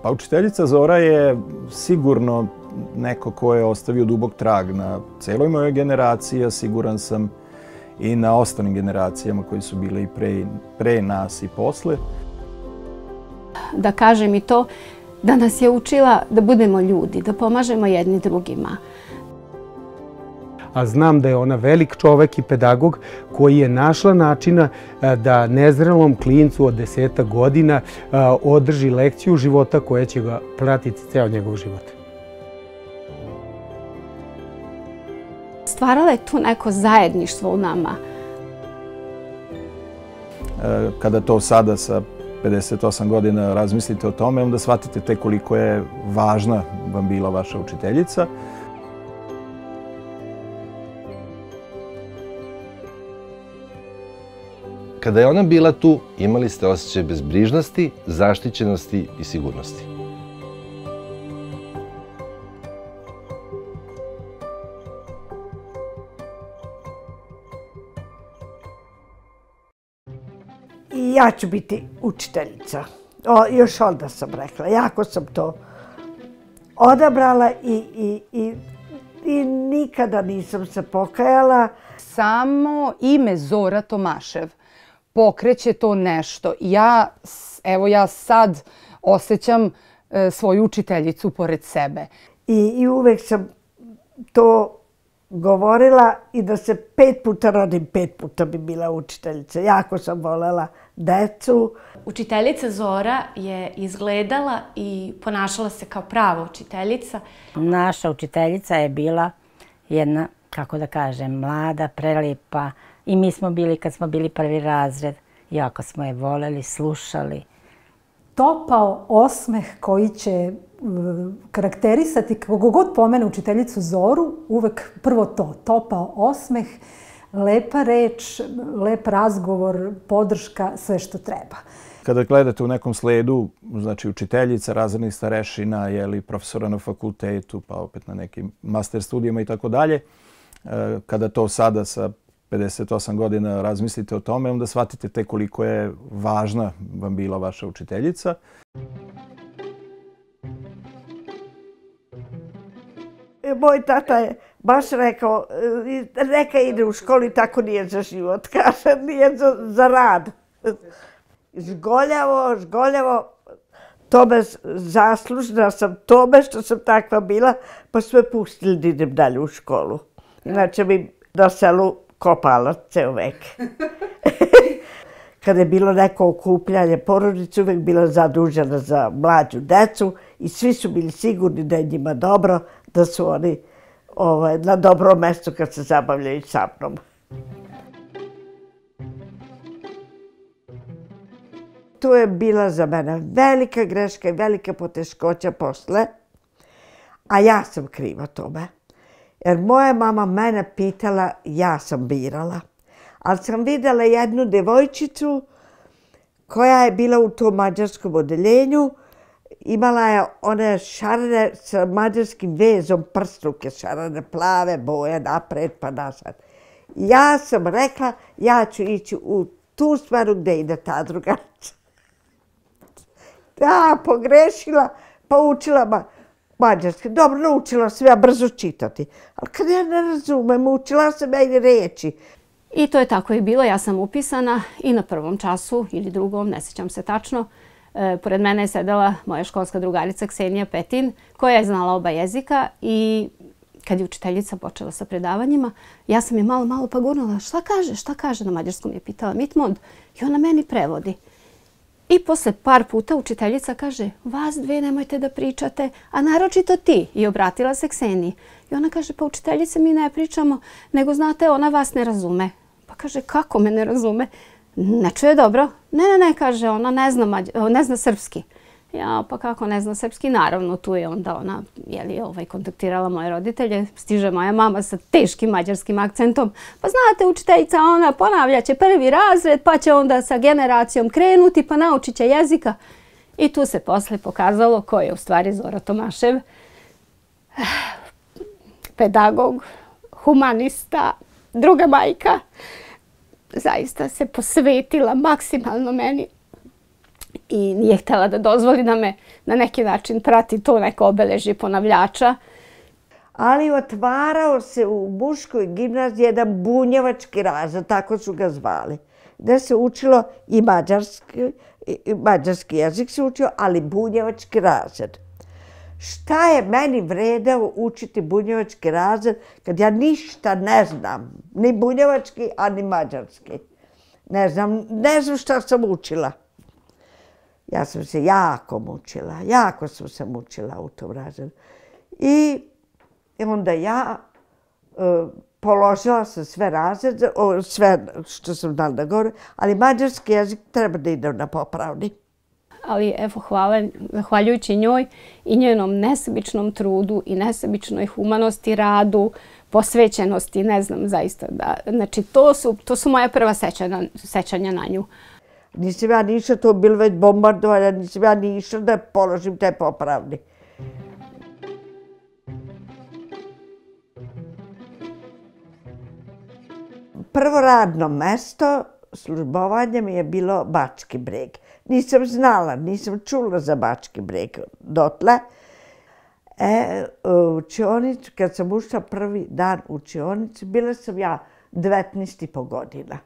Pa učiteljica Zora je sigurno neko ko je ostavio dubok trag na celoj mojoj generaciji, a siguran sam i na ostalim generacijama koji su bile i pre nas i posle. Da kažem i to, da nas je učila da budemo ljudi, da pomažemo jedni drugima. A znam da je ona velik čovek i pedagog koji je našla načina da nezrelom klincu od 10 godina održi lekciju života koja će ga pratiti ceo njegov život. Stvarala je tu neko zajedništvo u nama. Kada to sada sa 58 godina razmislite o tome, onda shvatite tek koliko je važna vam bila vaša učiteljica. Kada je ona bila tu, imali ste osjećaj bezbrižnosti, zaštićenosti i sigurnosti. I ja ću biti učiteljica. Još onda sam rekla, jako sam to odabrala i nikada nisam se pokajala. Samo ime Zora Tomašev pokreće to nešto. Ja sad osjećam svoju učiteljicu pored sebe. I uvek sam to govorila i da se 5 puta rodim, 5 puta bi bila učiteljica. Jako sam volela decu. Učiteljica Zora je izgledala i ponašala se kao prava učiteljica. Naša učiteljica je bila jedna, kako da kažem, mlada, prelijepa. I mi smo bili, kad smo bili prvi razred, jako smo je voleli, slušali. Topao osmeh koji će karakterisati, kako god pomene učiteljicu Zoru, uvek prvo to, topao osmeh, lepa reč, lep razgovor, podrška, sve što treba. Kada gledate u nekom sledu, znači učiteljica, razrednih starešina, profesora na fakultetu, pa opet na nekim master studijama i tako dalje, kada to sada sa 58 godina razmislite o tome, onda shvatite tek koliko je važna vam bila vaša učiteljica. Moj tata je baš rekao, neka ide u školu i tako nije za život, kaže, nije za rad. Žgoljavo, tome zaslužna sam tome što sam takva bila, pa su me pustili da idem dalje u školu. Inače bi na selu kopala ceo vek. Kada je bilo neko okupljanje porodice, uvek bila zadužena za mlađu decu i svi su bili sigurni da je njima dobro, da su oni na dobrom mestu kad se zabavljaju sa mnom. To je bila za mene velika greška i velika poteškoća posle, a ja sam kriva tome. Jer moja mama mene pitala, ja sam birala. Ali sam videla jednu devojčicu koja je bila u tom mađarskom odeljenju. Imala je one šarene sa mađarskim vezom, prstruke šarene, plave boje, napred pa nazad. Ja sam rekla, ja ću ići u tu smeru gde ide ta drugarca. Da, pogrešila, pa učila mađarski. Dobro, naučila sam ja brzo čitati. Ali kad ja ne razumem, učila sam ja i reči. I to je tako i bilo. Ja sam upisana i na prvom času ili drugom, ne sjećam se tačno. Pored mene je sedela moja školska drugarica Ksenija Petin, koja je znala oba jezika i kad je učiteljica počela sa predavanjima, ja sam je malo pa gurnula. Šta kaže? Na mađarskom je pitala Mitmond i ona meni prevodi. I posle par puta učiteljica kaže, vas dve nemojte da pričate, a naročito ti. I obratila se Kseniji. I ona kaže, pa učiteljice mi ne pričamo, nego znate, ona vas ne razume. Pa kaže, kako me ne razume? Ne čuje dobro. Ne, kaže, ona ne zna srpski. Ja, pa kako ne zna srpski? Naravno, tu je onda ona kontaktirala moje roditelje. Stiže moja mama sa teškim mađarskim akcentom. Pa znate, učiteljica, ona ponavljaće prvi razred, pa će onda sa generacijom krenuti, pa naučit će jezika. I tu se posle pokazalo ko je u stvari Zora Tomašev. Pedagog, humanista, druga majka. Zaista se posvetila maksimalno meni i nije htjela da dozvoli da me na neki način prati to neko obeležje ponavljača. Ali otvarao se u muškoj gimnaziji jedan bunjevački razred, tako su ga zvali, gde se učilo i mađarski jezik se učio, ali bunjevački razred. Šta je meni vredeo učiti bunjevački razred kad ja ništa ne znam, ni bunjevački, a ni mađarski. Ne znam šta sam učila. Ja sam se jako mučila, jako sam se mučila u tom razredu. I onda ja položila sam sve razrede, sve što sam znala da govorim, ali mađarski jezik treba da idem na popravni. Ali evo, zahvaljujući njoj i njenom nesebičnom trudu i nesebičnoj humanosti, radu, posvećenosti, ne znam zaista da... Znači, to su moja prva sećanja na nju. Nisam ja ni išla, to je bilo već bombardovanje, nisam ja ni išla da položim te popravni. Prvo radno mesto, službovanje mi je bilo Bački Breg. Nisam znala, nisam čula za Bački Breg dotle. U učionicu, kad sam ušla prvi dan u učionicu, bila sam ja 19,5 godina.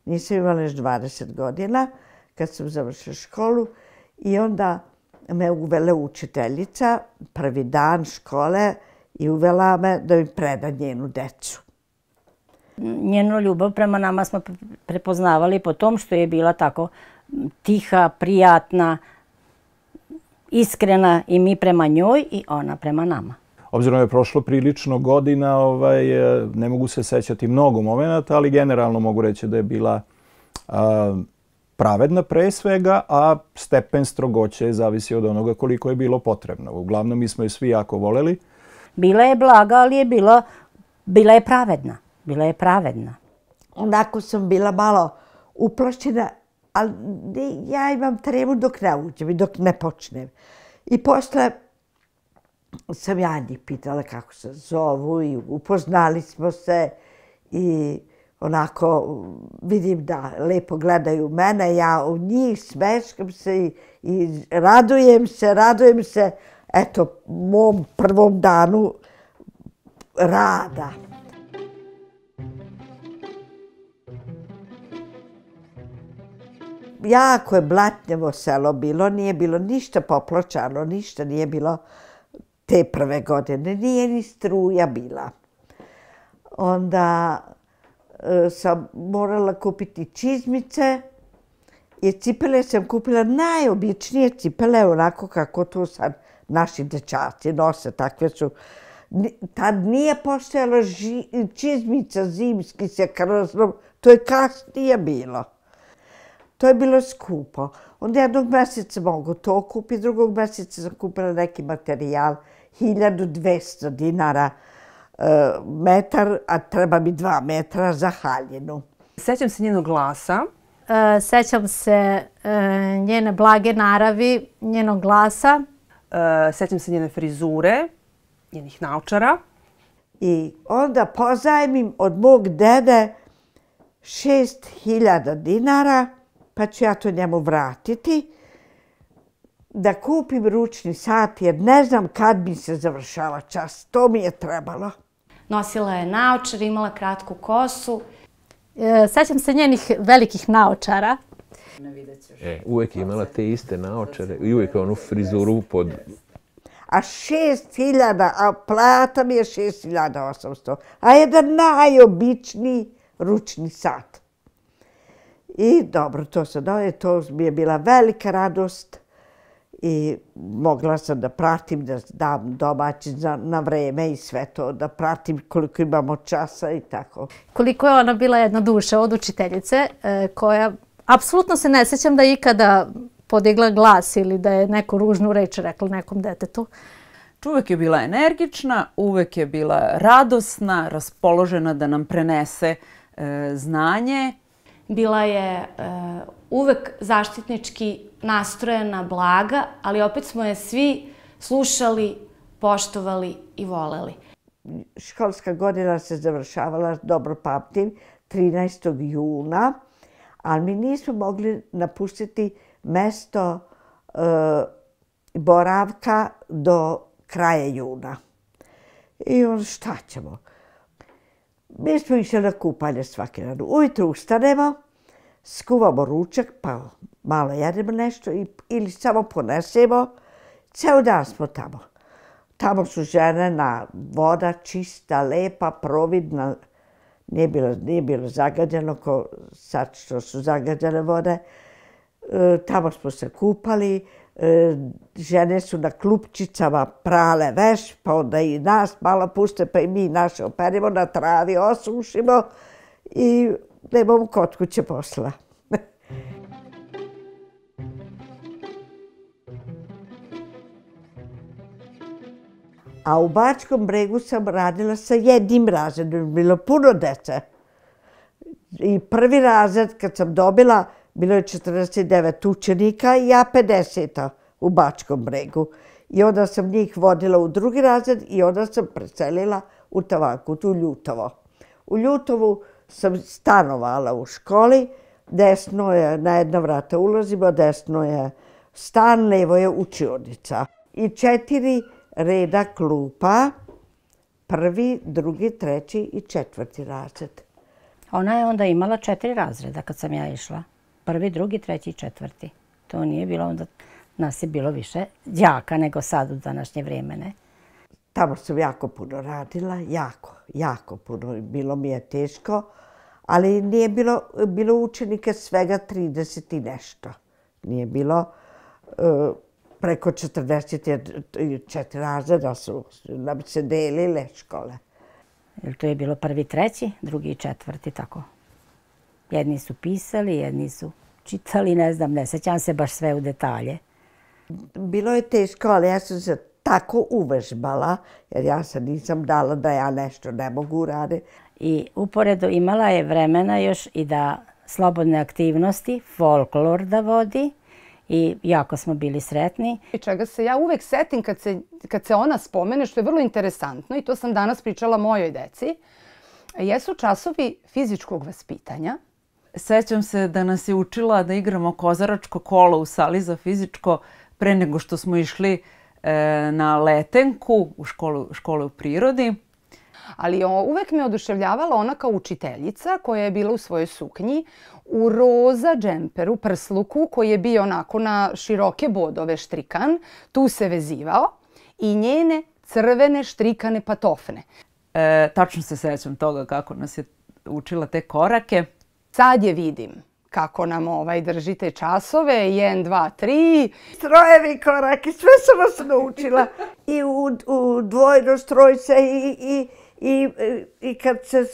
Nisam imala još 20 godina kad sam završila školu i onda me uvela učiteljica, prvi dan škole, i uvela me da mi preda njenu decu. Njenu ljubav prema nama smo prepoznavali po tom što je bila tako tiha, prijatna, iskrena i mi prema njoj i ona prema nama. Obzirom je prošlo prilično godina, ne mogu se sećati mnogo momenata, ali generalno mogu reći da je bila pravedna pre svega, a stepen strogoće zavisi od onoga koliko je bilo potrebno. Uglavnom, mi smo je svi jako voleli. Bila je blaga, ali je bila je pravedna. Bila je pravedna. Onako sam bila malo uplašćena, ali ja imam tremu dok ne uđem i dok ne počnem. I posle sam ja njih pitala kako se zovu i upoznali smo se i onako vidim da lepo gledaju mene, ja u njih smeškam se i radujem se, eto, mom prvom danu rada. Jako je blatnjevo selo bilo, nije bilo ništa popločano, ništa nije bilo te prve godine, nije ni struja bila. Onda sam morala kupiti čizmice i cipele sam kupila najobičnije cipele, onako kako to sad naši dečaci nose, takve su. Tad nije postojala čizmica zimski sa krznom, to je kasnije bilo. To je bilo skupo. Onda jednog mjeseca mogu to kupiti, drugog mjeseca sam kupila neki materijal, 1200 dinara metar, a treba mi 2 metra za haljinu. Sećam se njenog glasa. Sećam se njene blage naravi, njenog glasa. Sećam se njene frizure, njenih naočara. I onda pozajmim od mog dede 6.000 dinara, pa ću ja to njemu vratiti, da kupim ručni sat, jer ne znam kad mi se završava čas. To mi je trebalo. Nosila je naočar, imala kratku kosu. Sećam se njenih velikih naočara. Uvijek je imala te iste naočare i uvijek onu frizuru pod... A 6.000, a plata mi je 6.800, a jedan najobičniji ručni sat. I dobro, to mi je bila velika radost i mogla sam da pratim, da dam domaći na vreme i sve to, da pratim koliko imamo časa i tako. Koliko je ona bila jedna duša od učiteljice koja, apsolutno se ne sjećam da je ikada podigla glas ili da je neku ružnu reč rekla nekom detetu. Uvek je bila energična, uvek je bila radosna, raspoložena da nam prenese znanje. Bila je uvek zaštitnički nastrojena, blaga, ali opet smo je svi slušali, poštovali i voleli. Školska godina se završavala, dobro pamtim, 13. juna, ali mi nismo mogli napustiti mesto boravka do kraja juna. I onda šta ćemo? Mi smo išli na kupanje svaki dan. Ujutru ustanemo, skuvamo ručak, pa malo jedemo nešto ili samo ponesemo. Ceo dan smo tamo. Tamo su žene, voda čista, lepa, providna. Nije bilo zagađeno ko sad što su zagađene vode. Tamo smo se kupali. Žene su na klupčicama prale veš, pa onda i nas malo puste, pa i mi naše operimo, na travi osušimo i nemamo kod kuće posla. A u Bačkom Bregu sam radila sa jednim razredom, bilo puno dece. I prvi razred kad sam dobila, bilo je 49 učenika i ja 50 u Bačkom Bregu. I onda sam njih vodila u drugi razred i onda sam preselila u Tavanku, u Ljutovo. U Ljutovu sam stanovala u školi, desno je, na jedno vrata ulazimo, desno je stan, levo je učionica. I 4 reda klupa, prvi, drugi, treći i 4. razred. Ona je onda imala 4 razreda kad sam ja išla. Prvi, drugi, treći i 4. To nije bilo onda, nas je bilo više đaka nego sad u današnje vrijeme, ne? Tamo sam jako puno radila, jako puno. Bilo mi je teško, ali nije bilo učenika svega 30 i nešto. Nije bilo preko 44 razreda su nam se delile škole. To je bilo prvi, treći, drugi i 4, tako. Jedni su pisali, jedni su čitali, ne znam, ne sećam se baš sve u detalje. Bilo je teško, ali ja sam se tako uvežbala, jer ja se nisam dala da ja nešto ne mogu uraditi. I uporedo imala je vremena još i da slobodne aktivnosti, folklor da vodi i jako smo bili sretni. I čega se ja uvek setim kad se ona spomene, što je vrlo interesantno i to sam danas pričala mojoj deci, jesu časovi fizičkog vaspitanja. Sećam se da nas je učila da igramo kozaračko kolo u sali za fizičko pre nego što smo išli na letenku u škole u prirodi. Ali uvek me oduševljavala ona kao učiteljica koja je bila u svojoj suknji, u roza džemperu, prsluku koji je bio onako na široke bodove štrikan, tu se vezivao i njene crvene štrikane patofne. Tačno se sećam toga kako nas je učila te korake. Sad je vidim kako nam drži te časove, 1, 2, 3. Strojevi koraki, sve sam vas naučila. I u dvojno stroj se i kad se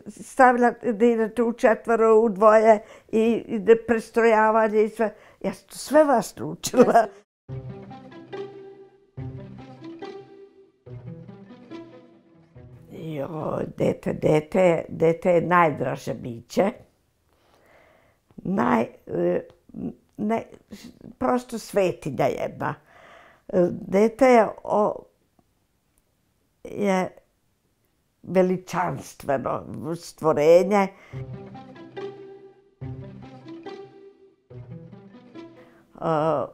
stavlja da idete u 4, u 2 i prestrojavanje i sve. Ja sam sve vas naučila. Joj, dete je najdraže biće. Prosto svetinja jedna. Dete je veličanstveno stvorenje.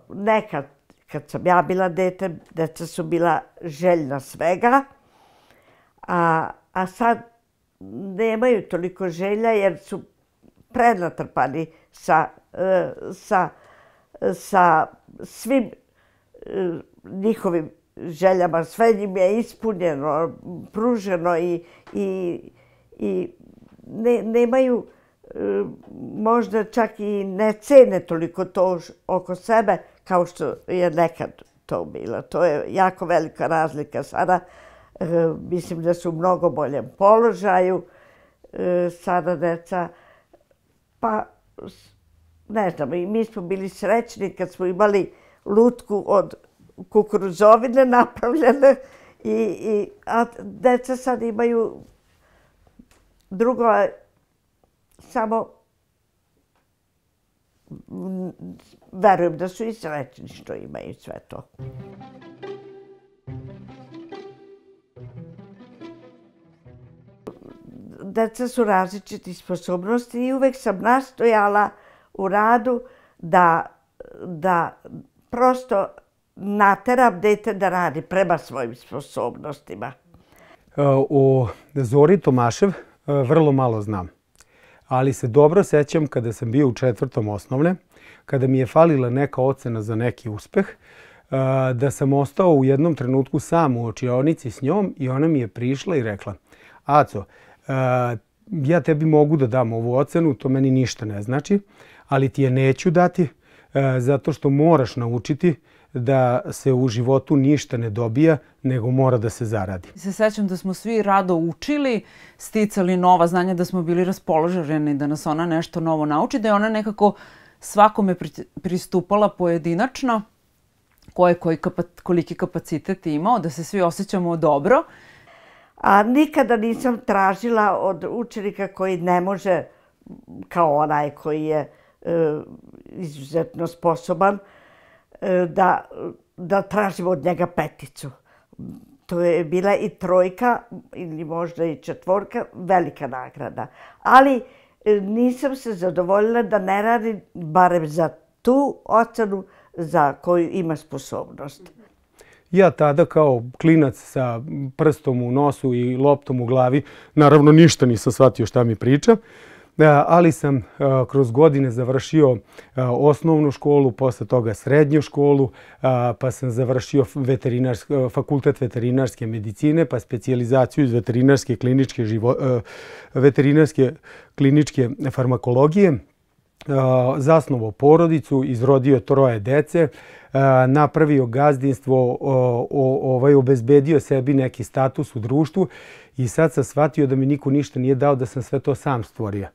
Nekad, kad sam ja bila dete, deca su bila željna svega, a sad nemaju toliko želja jer su prenatrpani sa svim njihovim željama. Sve njim je ispunjeno, pruženo i nemaju, možda čak i ne cene toliko to oko sebe kao što je nekad to bilo. To je jako velika razlika sada. Mislim da su u mnogo boljem položaju sada deca. Pa, ne znam, i mi smo bili srećni kad smo imali lutku od kukuruzovine napravljene, a deca sad imaju drugo, samo verujem da su i srećni što imaju sve to. Deca su različiti sposobnosti i uvek sam nastojala u radu da da prosto nateram dete da radi prema svojim sposobnostima. O Zori Tomašev vrlo malo znam, ali se dobro sećam kada sam bio u 4. osnovne, kada mi je falila neka ocena za neki uspeh, da sam ostao u jednom trenutku sam u učionici s njom i ona mi je prišla i rekla: Aco, ja tebi mogu da dam ovu ocenu, to meni ništa ne znači, ali ti je neću dati zato što moraš naučiti da se u životu ništa ne dobija, nego mora da se zaradi. Se sećam da smo svi rado učili, sticali nova znanja, da smo bili raspoloženi da nas ona nešto novo nauči, da je ona nekako svakome pristupala pojedinačno, koliki kapacitet imao, da se svi osjećamo dobro. A nikada nisam tražila od učenika koji ne može, kao onaj koji je izuzetno sposoban, da tražimo od njega 5. To je bila i 3 ili možda i 4, velika nagrada. Ali nisam se zadovoljila da ne radim barem za tu ocenu za koju ima sposobnost. Ja tada kao klinac sa prstom u nosu i loptom u glavi, naravno ništa nisam shvatio šta mi priča, ali sam kroz godine završio osnovnu školu, posle toga srednju školu, pa sam završio fakultet veterinarske medicine, pa specijalizaciju iz veterinarske kliničke farmakologije, zasnovao porodicu, izrodio 3 dece, napravio gazdinstvo, obezbedio sebi neki status u društvu i sad sam shvatio da mi niko ništa nije dao, da sam sve to sam stvorio.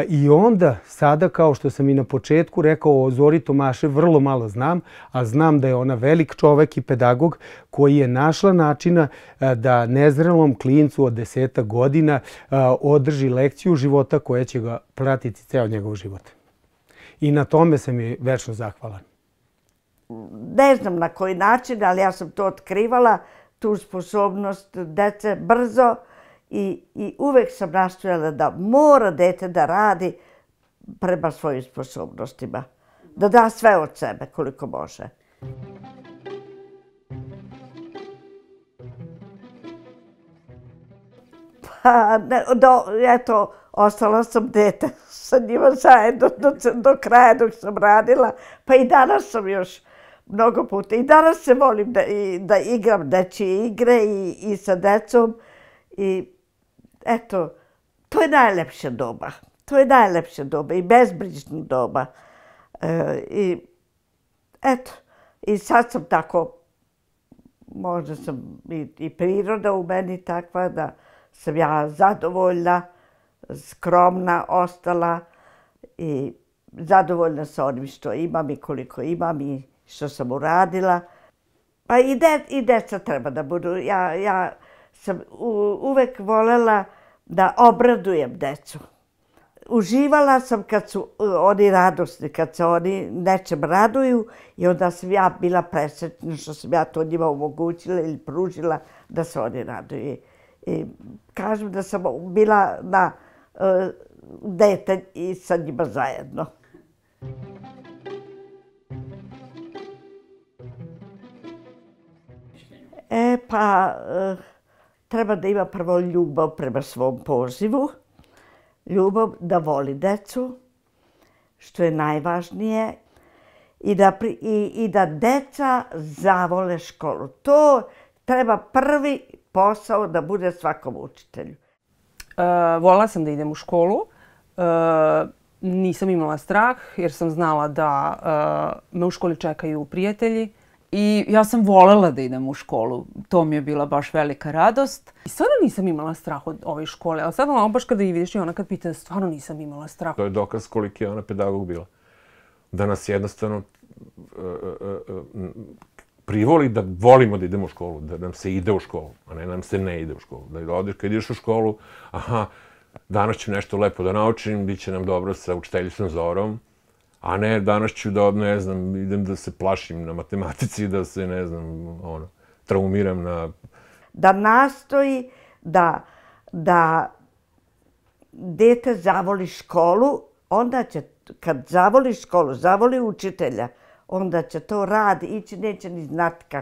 I onda, sada, kao što sam i na početku rekao, o Zori Tomašev vrlo malo znam, a znam da je ona velik čovek i pedagog koji je našla načina da nezrelom klincu od 10 godina održi lekciju života koja će ga pratiti ceo njegov život. I na tome sam je večno zahvalan. Ne znam na koji način, ali ja sam to otkrivala, tu sposobnost dece brzo, i uvek sam nastojala da mora dete da radi prema svojim sposobnostima. Da da sve od sebe koliko može. Pa, eto, ostala sam dete sa njima zajedno do kraja dok sam radila. Pa i danas sam još mnogo puta. I danas se volim da igram dečije igre i sa decom. I eto, to je najlepša doba. To je najlepša doba i bezbrižna doba. I eto, i sad sam tako, možda sam i priroda u meni takva da sam ja zadovoljna, skromna ostala i zadovoljna sa onim što imam i koliko imam i što sam uradila. Pa i deca treba da budu. Ja sam uvek volela da obradujem decu. Uživala sam kad su oni radosni, kad se oni nečem raduju i onda sam ja bila presretna što sam ja to njima omogućila ili pružila da se oni raduju. I kažem da sam bila na dete i sa njima zajedno. Treba da ima prvo ljubav prema svom pozivu, ljubav da voli decu, što je najvažnije, i da deca zavole školu. To treba prvi posao da bude svakom učitelju. Voljela sam da idem u školu. Nisam imala strah jer sam znala da me u školi čekaju prijatelji. I ja sam voljela da idem u školu. To mi je bila baš velika radost. I stvarno nisam imala strah od ove škole. Ali sad baš kada i vidiš i ona kad pita, stvarno nisam imala strah. To je dokaz koliki je ona pedagog bila. Da nas jednostavno privoli da volimo da idemo u školu, da nam se ide u školu, a ne nam se ne ide u školu. Da odeš, kad ideš u školu, aha, danas ću nešto lepo da naučim, bit će nam dobro sa učiteljicom Zorom, a ne danas ću da, ne znam, idem da se plašim na matematici, da se, ne znam, traumiram na... Da nastoji da dete zavoli školu, onda će kad zavoli školu, zavoli učitelja, onda će to ići, neće ni znati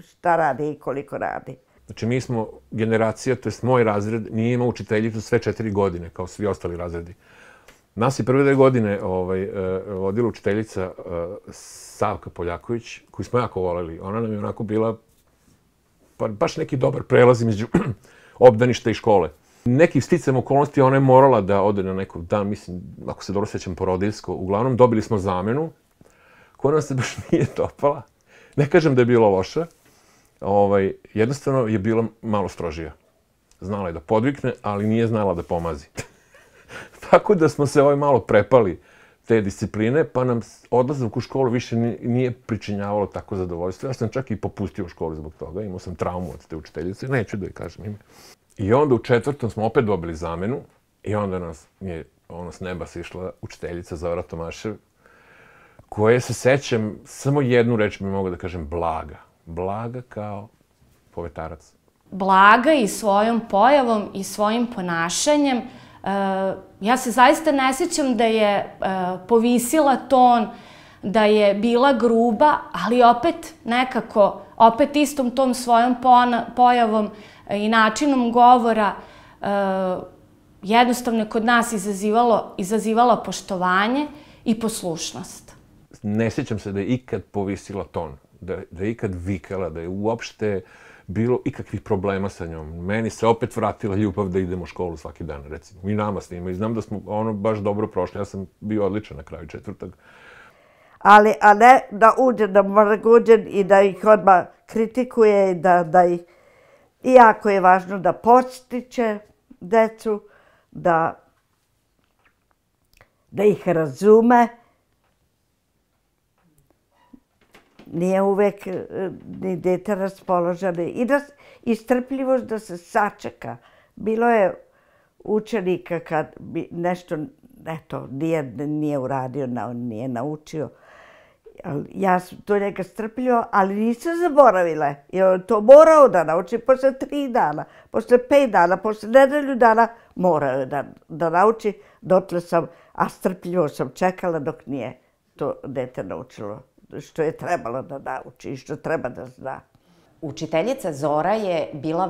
šta radi i koliko radi. Znači, mi smo generacija, to je moj razred, nije imao učiteljicu sve 4 godine, kao svi ostali razredi. Nas je prve 2 godine vodila učiteljica Savka Poljaković, koju smo jako voleli. Ona nam je onako bila baš neki dobar prelaz između obdaništa i škole. Nekih sticajem okolnosti ona je morala da ode na nekog dan, mislim, ako se dobro sjećam, porodiljsko. Uglavnom, dobili smo zamenu, koja nam se baš nije dopala. Ne kažem da je bila loša, jednostavno je bila malo strožija. Znala je da podvikne, ali nije znala da pomazi. Tako da smo se malo prepali te discipline, pa nam odlazak u školu više nije pričinjavalo tako zadovoljstvo. Ja sam čak i popustio u školu zbog toga, imao sam traumu od te učiteljice, neću da joj kažem ime. I onda u 4. smo opet dobili zamenu i onda nas je s neba sišla učiteljica Zora Tomašev, koje se sećam, samo jednu reč mi mogu da kažem, Blaga. Blaga kao povetarac. Blaga i svojom pojavom i svojim ponašanjem. Ja se zaista ne sjećam da je povisila ton, da je bila gruba, ali opet nekako, opet istom tom svojom pojavom i načinom govora jednostavno je kod nas izazivala poštovanje i poslušnost. Ne sjećam se da je ikad povisila ton, da je ikad vikala, da je uopšte bilo ikakvih problema sa njom. Meni se opet vratila ljubav da idemo u školu svaki dan, recimo. I nama s njima. I znam da smo baš dobro prošli. Ja sam bio odličan na kraju 4. Ali, a ne da uđe na Maraguđen i da ih odmah kritikuje i da ih... Iako je važno da postiče decu, da ih razume. Nije uvek ni dete raspoloženo. I strpljivost da se sačeka. Bilo je učenika kad bi nešto, nije uradio, nije naučio. Ja sam to njega strpljivo, ali nisam zaboravila. I on to morao da nauči posle 3 dana, posle 5 dana, posle nedelju dana morao je da nauči. Dotle sam, a strpljivo sam čekala dok nije to dete naučilo što je trebalo da nauči i što treba da zna. Učiteljica Zora je bila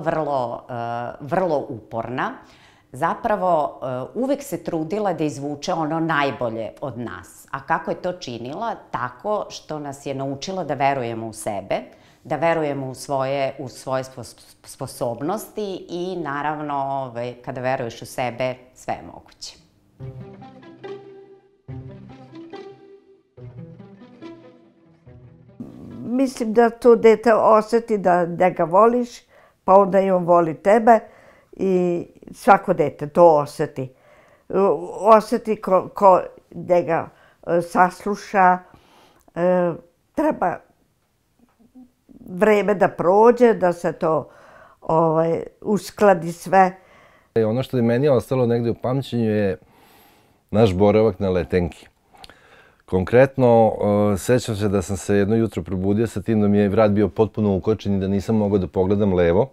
vrlo uporna. Zapravo, uvek se trudila da izvuče ono najbolje od nas. A kako je to činila? Tako što nas je naučila da verujemo u sebe, da verujemo u svoje sposobnosti i naravno, kada veruješ u sebe, sve je moguće. Mislim da to dete osjeti da ga voliš, pa onda i on voli tebe i svako dete to osjeti. Osjeti ko njega sasluša, treba vreme da prođe, da se to uskladi sve. Ono što je meni ostalo negde u pamćenju je naš boravak na Letenki. Konkretno, sećam se da sam se jedno jutro probudio sa tim da mi je vrat bio potpuno ukočen i da nisam mogao da pogledam levo.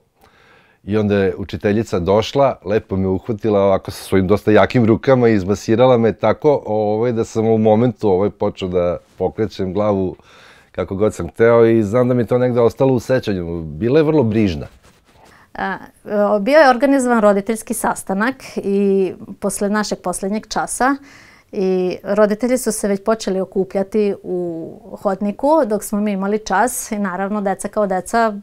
I onda je učiteljica došla, lepo me uhvatila ovako sa svojim dosta jakim rukama i izmasirala me tako da sam u momentu počeo da pokrećem glavu kako god sam hteo i znam da mi je to negde ostalo u sećanju. Bila je vrlo brižna. Bio je organizovan roditeljski sastanak i posle našeg poslednjeg časa i roditelji su se već počeli okupljati u hodniku dok smo mi imali čas i naravno deca kao deca.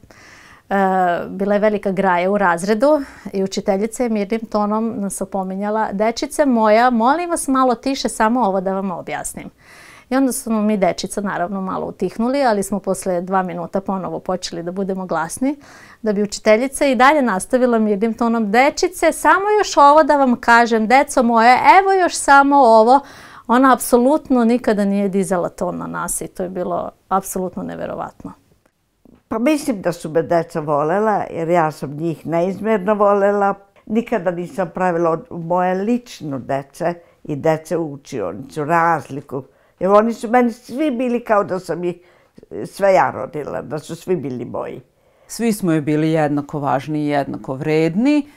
Bila je velika graja u razredu i učiteljica je mirnim tonom nas opominjala: dečice moja, molim vas malo tiše, samo ovo da vam objasnim. I onda smo mi dečica naravno malo utihnuli, ali smo posle 2 minuta ponovo počeli da budemo glasni, da bi učiteljica i dalje nastavila mirnim tonom: dečice, samo još ovo da vam kažem, deco moje, evo još samo ovo. Ona apsolutno nikada nije dizala ton na nas i to je bilo apsolutno neverovatno. Pa mislim da su me deca volela, jer ja sam njih neizmjerno volela. Nikada nisam pravila moje lično dece i dece u učionicu razliku. Jer oni su meni svi bili kao da sam ih sve ja rodila, da su svi bili moji. Svi smo joj bili jednako važni i jednako vredni.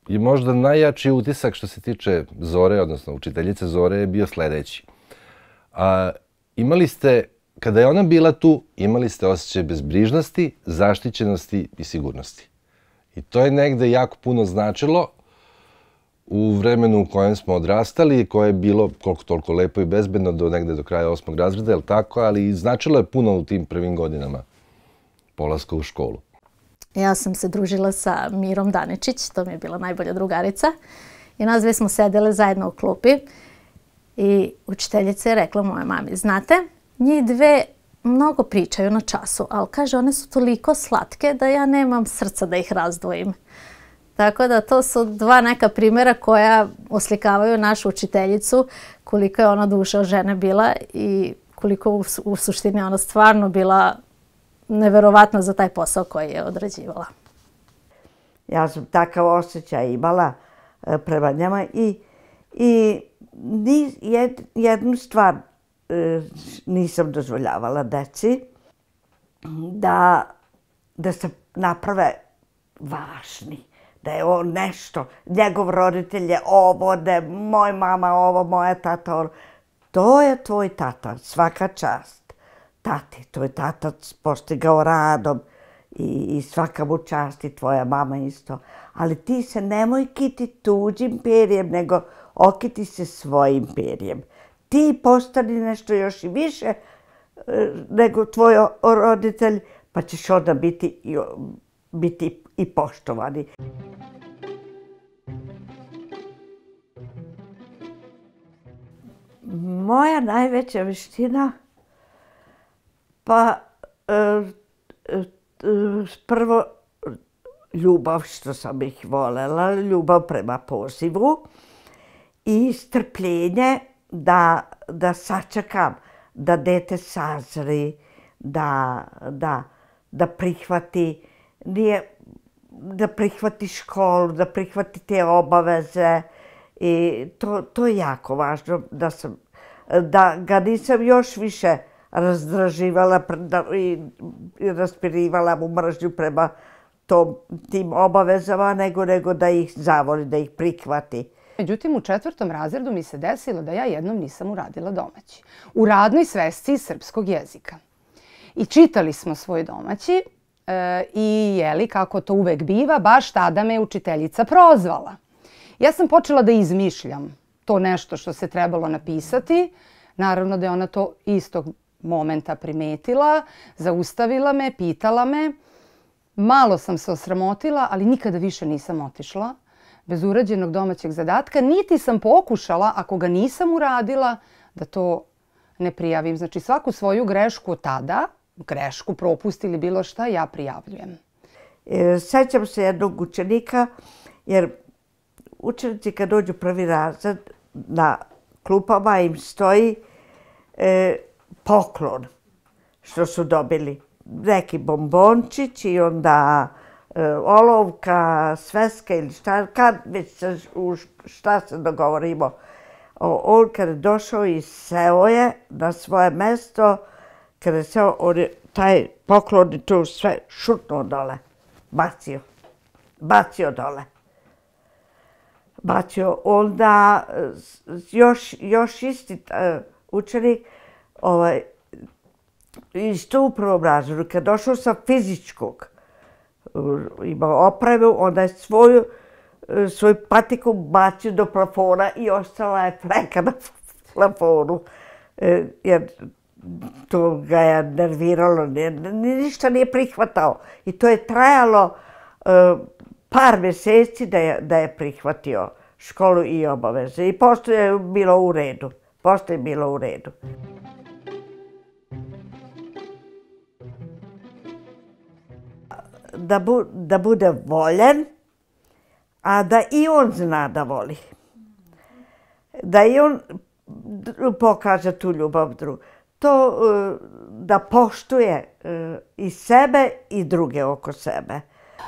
je možda najjači utisak što se tiče Zore, odnosno učiteljice Zore, je bio sledeći. Imali ste, kada je ona bila tu, imali ste osjećaj bezbrižnosti, zaštićenosti i sigurnosti. I to je negde jako puno značilo u vremenu u kojem smo odrastali, koje je bilo koliko toliko lepo i bezbedno do negde do kraja 8. razreda, je li tako? Ali značilo je puno u tim prvim godinama polaska u školu. Ja sam se družila sa Mirom Daničić, to mi je bila najbolja drugarica. I nas dve smo sedele zajedno u klupi. I učiteljica je rekla moje mami, znate, njih dve mnogo pričaju na času, ali kaže, one su toliko slatke da ja nemam srca da ih razdvojim. Tako da to su dva neka primjera koja oslikavaju našu učiteljicu, koliko je ona duša od žene bila i koliko u suštini ona stvarno bila neverovatna za taj posao koji je odrađivala. Ja sam takav osjećaj imala prema njima i jednu stvar nisam dozvoljavala deci, da se naprave važni, da je on nešto, njegov roditelj je ovo, da je moj mama ovo, moja tata ovo. To je tvoj tata, svaka čast. Tati, tvoj tata postigao radom i svaka mu čast i tvoja mama isto. Ali ti se nemoj kiti tuđim perjem, nego okiti se svojim perjem. Ti postani nešto još i više nego tvoj roditelj, pa ćeš onda biti i poštovani. Moja najveća veština, pa prvo ljubav što sam ih volela, ljubav prema pozivu i strpljenje da sačekam, da dete sazri, da prihvati, da prihvati školu, da prihvati te obaveze. I to je jako važno, da ga nisam još više razdraživala i raspirivala mu mržnju prema tim obavezama, nego da ih zavoli, da ih prihvati. Međutim, u 4. razredu mi se desilo da ja jednom nisam uradila domaći. U radnoj svesci srpskog jezika. I čitali smo svoj domaći i jeli, kako to uvek biva, baš tada me učiteljica prozvala. Ja sam počela da izmišljam to nešto što se trebalo napisati. Naravno da je ona to istog momenta primetila, zaustavila me, pitala me. Malo sam se osramotila, ali nikada više nisam otišla bez urađenog domaćeg zadatka, niti sam pokušala, ako ga nisam uradila, da to ne prijavim. Znači svaku svoju grešku tada, grešku, propust ili bilo šta, ja prijavljujem. Sećam se jednog učenika, jer učenici kad dođu prvi razred, na klupama im stoji poklon što su dobili. Neki bombončić i onda olovka, sveska ili šta, kad već šta se dogovorimo. On kada je došao i seo je na svoje mesto, kada je seo, on je taj poklon i tu sve šutnuo dole, bacio dole. Onda još isti učenik isto u prvom razredu, kad je došao sa fizičkog, imao opremu, onda je svoju patiku bacio do plafona i ostala je fleka na plafonu. Jer to ga je nerviralo, ništa nije prihvatao. I to je trajalo par mjeseci da je prihvatio školu i obaveze. I posto je bilo u redu. Da bude voljen, a da i on zna da voli. Da i on pokaže tu ljubav drugu. To da poštuje i sebe i druge oko sebe.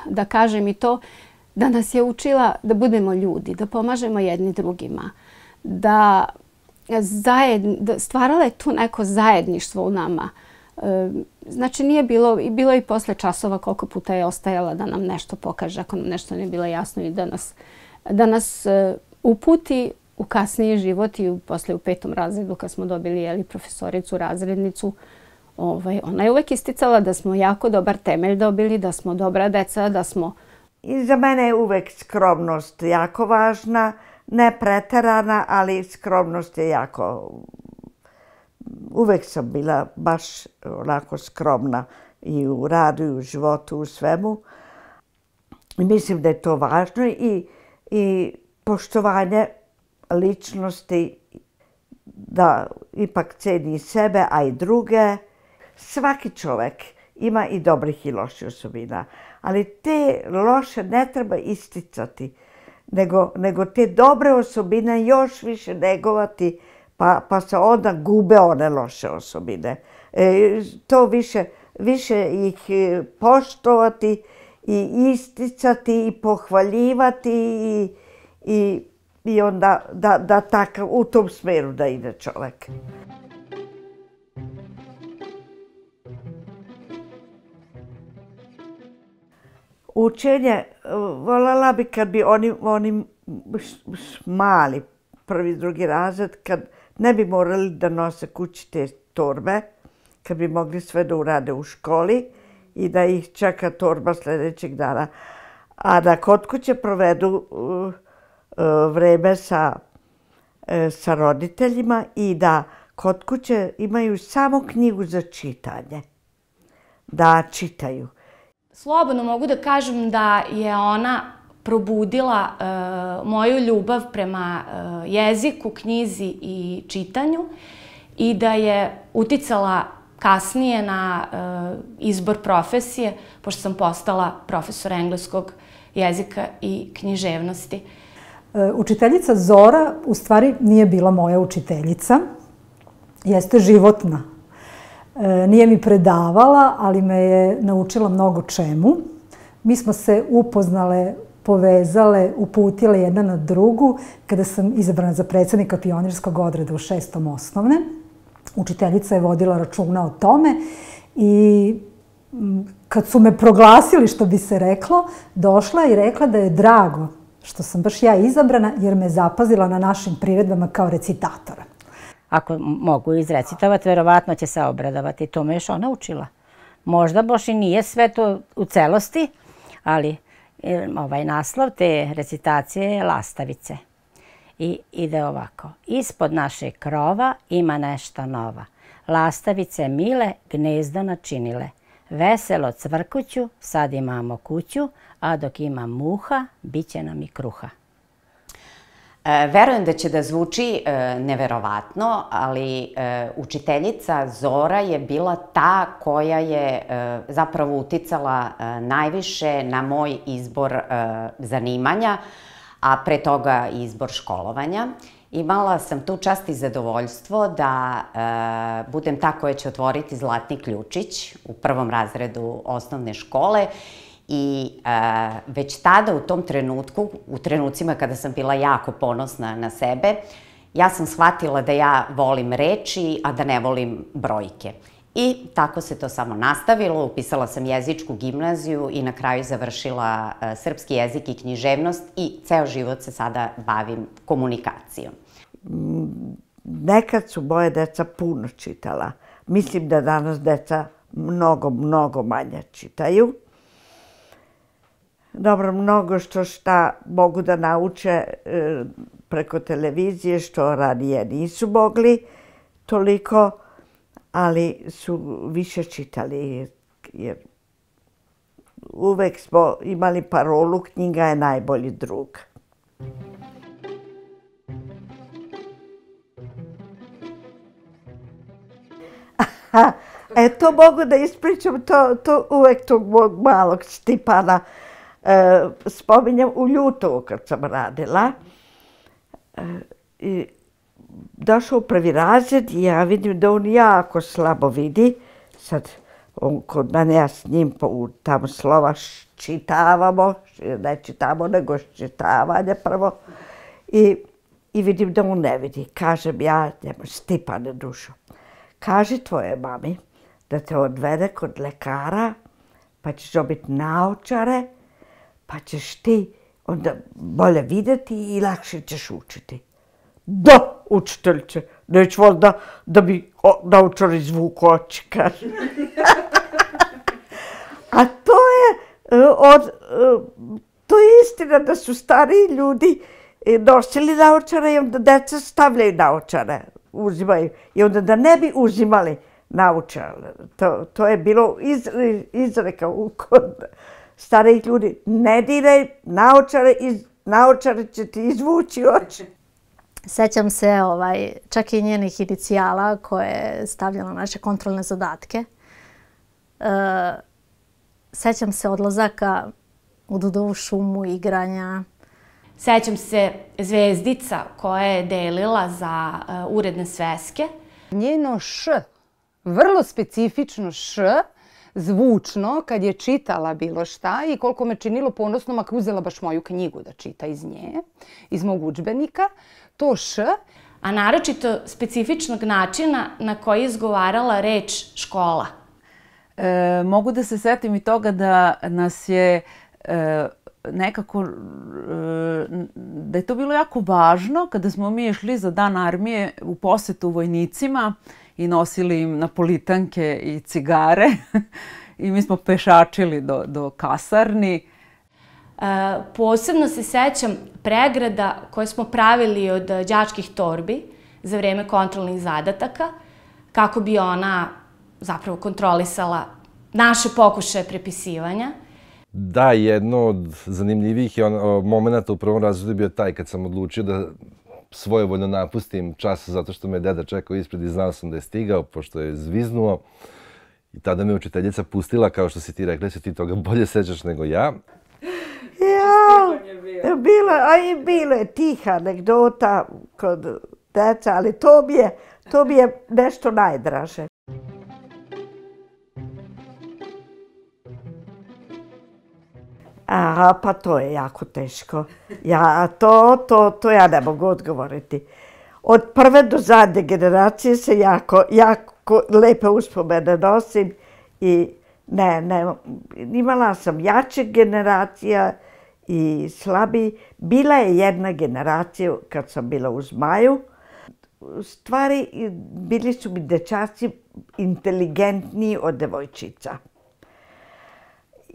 Da kažem i to, da nas je učila da budemo ljudi, da pomažemo jedni drugima, da stvarala je tu neko zajedništvo u nama. Znači nije bilo i posle časova koliko puta je ostajala da nam nešto pokaže ako nam nešto nije bilo jasno i da nas da nas uputi u kasniji život i posle u 5. razredu kad smo dobili profesoricu, razrednicu. Ona je uvek isticala da smo jako dobar temelj dobili, da smo dobra deca, da smo... I za mene je uvek skromnost jako važna, ne preterana, ali skromnost je jako... Uvek sam bila baš onako skromna i u radu i u životu, u svemu. I mislim da je to važno i poštovanje ličnosti, da ipak ceni sebe, a i druge. Svaki čovek ima i dobrih i loših osobina, ali te loše ne treba isticati, nego te dobre osobine još više negovati, pa se onda gube one loše osobine. To više ih poštovati i isticati i pohvaljivati i onda da takav u tom smeru da ide čovek. Učenje, voljela bi kad bi oni mali, 1. 2. razred, kad ne bi morali da nose kući te torbe, kad bi mogli sve da urade u školi i da ih čeka torba sljedećeg dana. A da kod kuće provedu vreme sa roditeljima i da kod kuće imaju samo knjigu za čitanje. Da čitaju. Slobodno mogu da kažem da je ona probudila moju ljubav prema jeziku, knjizi i čitanju i da je uticala kasnije na izbor profesije, pošto sam postala profesor engleskog jezika i književnosti. Učiteljica Zora u stvari nije bila moja učiteljica, jeste životna. Nije mi predavala, ali me je naučila mnogo čemu. Mi smo se upoznale, povezale, uputile jedna na drugu kada sam izabrana za predsjednika pionirskog odreda u 6. osnovne. Učiteljica je vodila računa o tome i kad su me proglasili, što bi se reklo, došla i rekla da je drago što sam baš ja izabrana jer me zapazila na našim priredbama kao recitatora. Ako mogu izrecitovati, verovatno će se obradovati. To me još ona učila. Možda baš i nije sve to u celosti, ali ovaj naslov te recitacije je Lastavice. I ide ovako. Ispod našeg krova ima nešto nova. Lastavice mile gnezdo načinile. Veselo cvrkuću, sad imamo kuću, a dok ima muha, bit će nam i kruha. Verujem da će da zvuči neverovatno, ali učiteljica Zora je bila ta koja je zapravo uticala najviše na moj izbor zanimanja, a pre toga izbor školovanja. Imala sam tu čast i zadovoljstvo da budem ta koja će otvoriti Zlatni ključić u 1. razredu osnovne škole. I već tada u tom trenutku, u trenucima kada sam bila jako ponosna na sebe, ja sam shvatila da ja volim reči, a da ne volim brojke. I tako se to samo nastavilo. Upisala sam jezičku gimnaziju i na kraju završila srpski jezik i književnost i ceo život se sada bavim komunikacijom. Nekad su moje deca puno čitala. Mislim da danas deca mnogo manje čitaju. Dobro, mnogo šta mogu da nauče preko televizije, što ranije nisu mogli toliko, ali su više čitali. Jer uvek smo imali parolu, knjiga je najbolji drug. To mogu da ispričam, to uvek tog mog malog Stipana spominjem u Ljutovu kad sam radila. Došao u 1. razred i ja vidim da on jako slabo vidi. Sad, kod mene ja s njim tamo slova čitavamo, ne čitamo nego čitavanje prvo. I vidim da on ne vidi. Kažem ja njemu, Stipane dušo, kaži tvoje mami da te odvede kod lekara, pa ćeš dobiti naočare, pa ćeš ti onda bolje videti i lakše ćeš učiti. Da, učiteljice, neću valjda da bi naučar izvuku oči, kaže. A to je istina da su stariji ljudi nosili naočare i onda deca stavljaju naočare, uzimaju. I onda da ne bi uzimali naočare. To je bilo izreka kod starijih ljudi. Ne diraj naočare će ti izvući oči. Sećam se čak i njenih inicijala koje je stavljala na naše kontrolne zadatke. Sećam se odlazaka u Dudovu šumu, igranja. Sećam se zvezdica koja je delila za uredne sveske. Njeno š, vrlo specifično š, zvučno kad je čitala bilo šta i koliko me činilo ponosnom ako uzela baš moju knjigu da čita iz nje, iz mog udžbenika, to š. A naročito specifičnog načina na koji je izgovarala reč škola. Mogu da se setim i toga da nas je nekako, da je to bilo jako važno kada smo mi išli za Dan armije u posetu vojnicima i nosili im napolitanke i cigare i mi smo pešačili do kasarni. Posebno se sećam pregrada koje smo pravili od đačkih torbi za vreme kontrolnih zadataka, kako bi ona zapravo kontrolisala naše pokušaje prepisivanja. Da, jedno od zanimljivijih momenta u prvom razredu je bio taj kad sam odlučio da svojevoljno napustim čas zato što me deda čekao ispred i znao sam da je stigao, pošto je zviznuo. I tada me učiteljica pustila, kao što si ti rekla, se ti toga bolje sećaš nego ja. Bilo je tiha anegdota kod deca, ali to mi je nešto najdraže. Aha, pa to je jako teško. To ja ne mogu odgovoriti. Od prve do zadnje generacije se jako lepe uspomene nosim i imala sam jače generacija i slabiji. Bila je jedna generacija kad sam bila u Zmaju. Stvari, bili su mi dečaci inteligentniji od devojčica.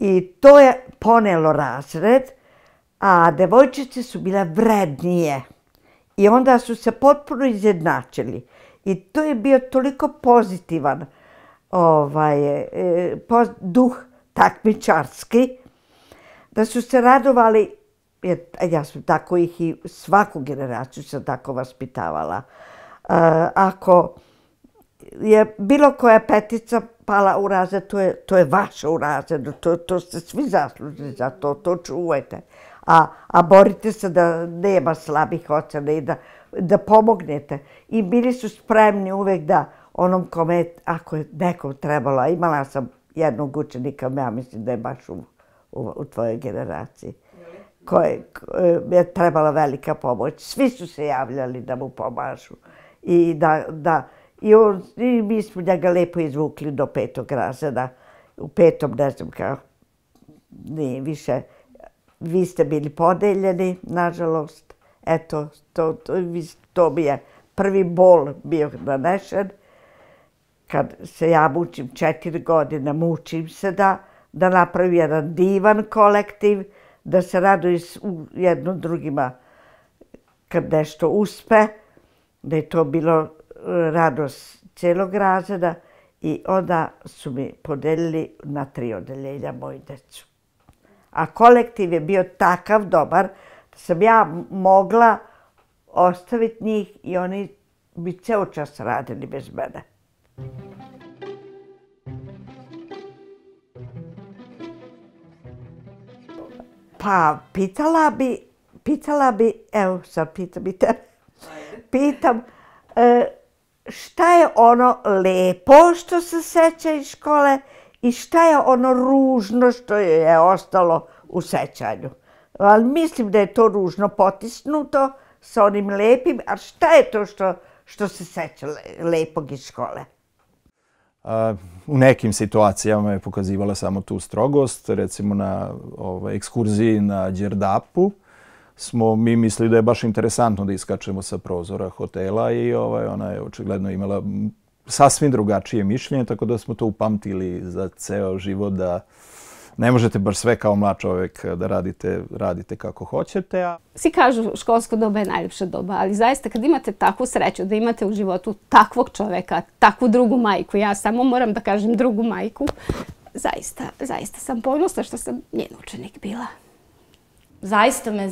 I to je ponelo razred, a devojčice su bile vrednije. I onda su se potpuno izjednačili. I to je bio toliko pozitivan duh takmičarski, da su se radovali, ja sam tako ih i svaku generaciju sam tako vaspitavala. Ako je bilo koja petica pala u razred, to je vaša u razredu, to ste svi zaslužni za to čuvajte. A borite se da nema slabih ocena i da pomognete. I bili su spremni uvek da onom kome, ako je nekom trebalo, a imala sam jednog učenika, ja mislim da je baš u tvojoj generaciji, koje je trebala velika pomoć. Svi su se javljali da mu pomažu. I mi smo njega lepo izvukli do 5. razreda. U 5. ne znam kako, nije više. Vi ste bili podeljeni, nažalost. Eto, to mi je prvi bol bio nanešen. Kad se ja mučim 4 godine, mučim se da napravim jedan divan kolektiv, da se raduju jedno drugima kad nešto uspe, da je to bilo radost celog razreda i onda su mi podelili na 3 odeljenja moju decu. A kolektiv je bio takav dobar da sam ja mogla ostaviti njih i oni bi ceo čas radili bez mene. Pa pitala bi, evo sad pitam i tebe, pitam šta je ono lepo što se seća iz škole i šta je ono ružno što je ostalo u sećanju. Ali mislim da je to ružno potisnuto sa onim lepim, a šta je to što se seća lepog iz škole? U nekim situacijama je pokazivala samo tu strogost. Recimo na ekskurziji na Đerdapu smo mi mislili da je baš interesantno da iskačemo sa prozora hotela i ona je očigledno imala sasvim drugačije mišljenje, tako da smo to upamtili za ceo život, da ne možete baš sve kao mlad čovjek da radite kako hoćete. Svi kažu školsko doba je najljepša doba, ali zaista kad imate takvu sreću da imate u životu takvog čovjeka, takvu drugu majku, ja samo moram da kažem drugu majku, zaista sam ponosna što sam njen učenik bila. Zaista me